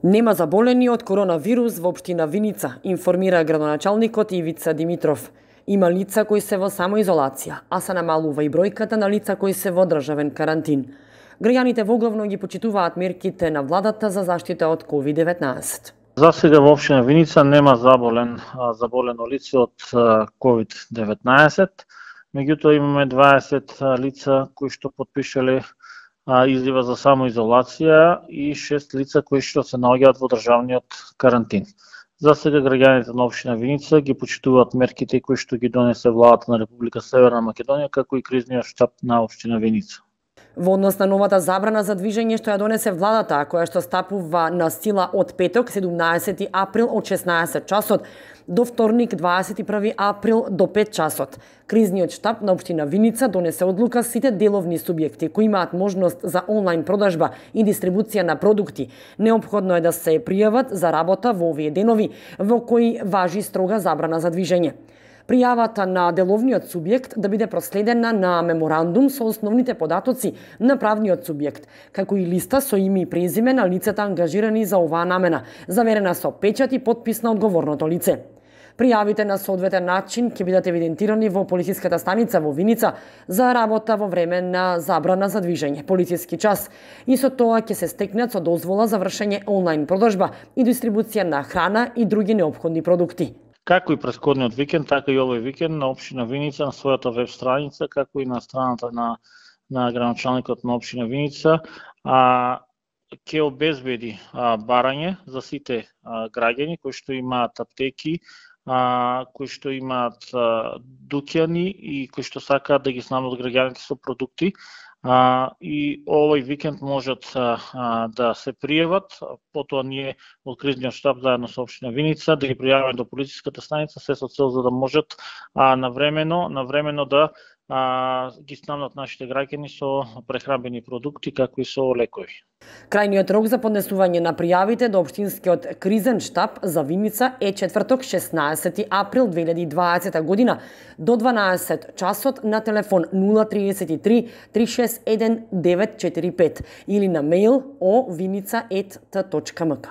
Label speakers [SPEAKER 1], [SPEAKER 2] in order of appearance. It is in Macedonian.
[SPEAKER 1] Нема заболени од коронавирус во општина Виница, информира градоначалникот Ивица Димитров. Има лица кои се во самоизолација, а се намалува и бројката на лица кои се во државен карантин. Граѓаните воглавно ги почитуваат мерките на владата за заштита од COVID-19.
[SPEAKER 2] За сега во општина Виница нема заболено лице од COVID-19, меѓутоа имаме 20 лица кои што потпишале изјава за самоизолација и 6 лица кои што се наоѓаат во државниот карантин. За сега граѓаните на општина Виница ги почитуваат мерките кои што ги донесе владата на Република Северна Македонија, како и кризниот штаб на општина Виница.
[SPEAKER 1] Во однос на новата забрана за движење што ја донесе владата, која што стапува на сила од петок 17 април од 16 часот до вторник 21 април до 5 часот, кризниот штаб на општина Виница донесе одлука сите деловни субјекти кои имаат можност за онлайн продажба и дистрибуција на продукти, неопходно е да се пријават за работа во овие денови во кои важи строга забрана за движење. Пријавата на деловниот субјект да биде проследена на меморандум со основните податоци на правниот субјект, како и листа со име и презиме на лицата ангажирани за оваа намена, заверена со печат и подпис на одговорното лице. Пријавите на соодветен начин ќе бидат евидентирани во полициската станица во Виница за работа во време на забрана за движење, полициски час, и со тоа ќе се стекнат со дозвола за вршење онлайн продажба и дистрибуција на храна и други неопходни продукти.
[SPEAKER 2] Како и претходниот викенд, така и овој викенд на општина Виница на својата веб страница, како и на страната на градоначалникот на општина Виница, ќе обезбеди барање за сите граѓани кои што имаат аптеки, кои што имаат дуќани и кои што сакаат да ги снабдат граѓаните со продукти. И овој викенд можат да се пријават, потоа ние од кризниот штаб заедно со општина Виница да ги пријавиме до полициската станица, се со цел за да можат навремено да ги снабдат нашите граѓани со прехранбени продукти, како и со лекови.
[SPEAKER 1] Крајниот рок за поднесување на пријавите до општинскиот кризен штаб за Виница е четврток 16 април 2020 година до 12 часот на телефон 033 361 945 или на мејл ovvinica@t.mk.